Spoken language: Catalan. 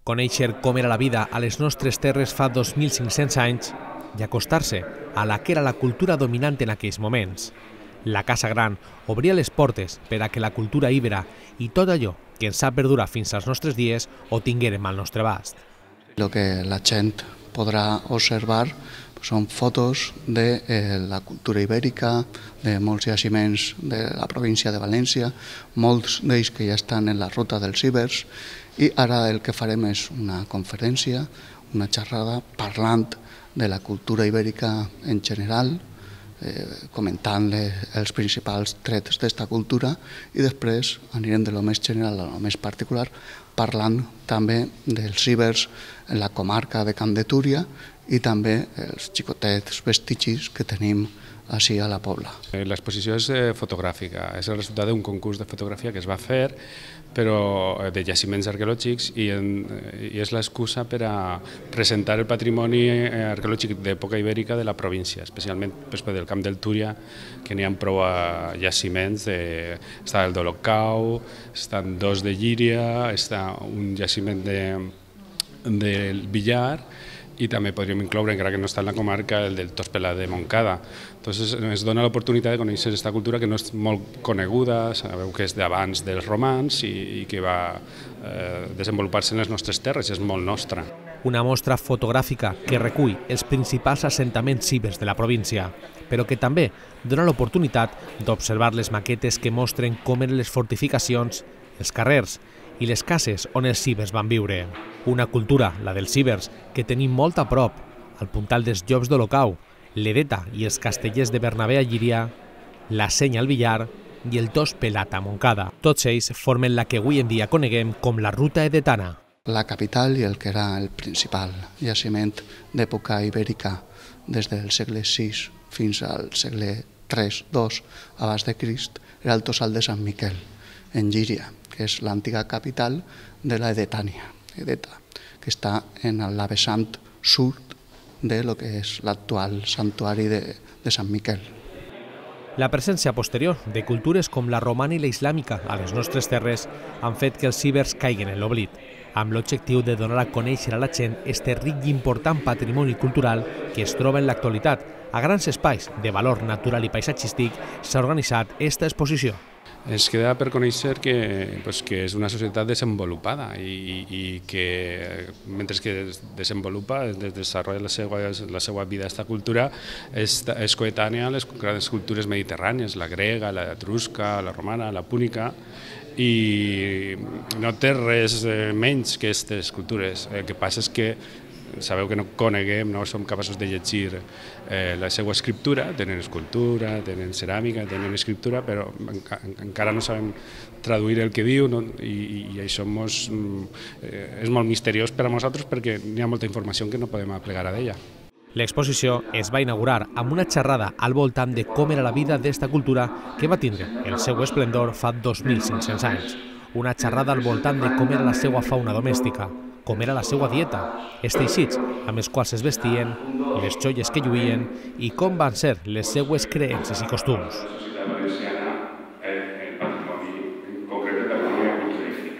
Conèixer com era la vida a les nostres terres fa 2.500 anys i acostar-se a la que era la cultura dominant en aquells moments. La Casa Gran obria les portes per a que la cultura íbera i tot allò que ens ha perdurat fins als nostres dies ho tinguérem al nostre abast. Lo que la gent podrà observar són fotos de la cultura ibèrica, de molts jaciments de la província de València, molts d'ells que ja estan en la ruta dels cibers, i ara el que farem és una conferència, una xerrada parlant de la cultura ibèrica en general, comentant els principals trets d'esta cultura, i després anirem de lo més general a lo més particular, parlant també dels cibers en la comarca de Camp de Túria i també els xicotets vestigis que tenim així a la Pobla. L'exposició és fotogràfica, és el resultat d'un concurs de fotografia que es va fer, però de jaciments arqueològics, i és l'excusa per a presentar el patrimoni arqueològic d'època ibèrica de la província, especialment del Camp del Túria, que n'hi ha prou jaciments. Està el d'Olocau, estan dos de Llíria, està un jaciment del Villar, i també podríem incloure, encara que no està en la comarca, el del Tospelà de Montcada. Entonces ens dona l'oportunitat de conèixer aquesta cultura que no és molt coneguda, sabeu que és d'abans dels romans i que va desenvolupar-se en les nostres terres, és molt nostra. Una mostra fotogràfica que recull els principals assentaments cibers de la província, però que també dona l'oportunitat d'observar les maquetes que mostren com eren les fortificacions, els carrers i les cases on els cibers van viure. Una cultura, la dels cibers, que tenim molt a prop, al puntal dels Llops d'Olocau, l'Edeta i els castellers de Bernabé a Llíria, la Senya al Villar i el Tospelat a Montcada. Tots ells formen la que avui en dia coneguem com la Ruta Edetana. La capital i el que era el principal jaciment d'època ibèrica des del segle VI fins al segle III-II abans de Crist era el Tossal de Sant Miquel, en Llíria, que és l'antiga capital de la Edetània, Edeta, que està en la vessant sud de lo que és l'actual santuari de Sant Miquel. La presència posterior de cultures com la romana i la islàmica a les nostres terres han fet que els cibers caiguen en l'oblit, amb l'objectiu de donar a conèixer a la gent este ric i important patrimoni cultural que es troba en l'actualitat. A grans espais de valor natural i paisatgístic s'ha organitzat esta exposició. Ens queda per conèixer que és una societat desenvolupada i que mentre que es desenvolupa, desenvolupa la seva vida, aquesta cultura és coetània a les grans cultures mediterrànies, la grega, la etrusca, la romana, la púnica, i no té res menys que aquestes cultures. El que passa és que sabeu que no coneguem, no som capaços de llegir la seva escriptura, tenen escultura, tenen ceràmica, tenen escriptura, però encara no sabem traduir el que diu, i això és molt misteriós per a nosaltres perquè hi ha molta informació que no podem aplegar a d'ella. L'exposició es va inaugurar amb una xerrada al voltant de com era la vida d'esta cultura que va tindre el seu esplendor fa 2.500 anys. Una xerrada al voltant de com era la seva fauna domèstica, com era la seva dieta, els teixits amb els quals es vestien, les joies que lluïen i com van ser les seues creences i costums.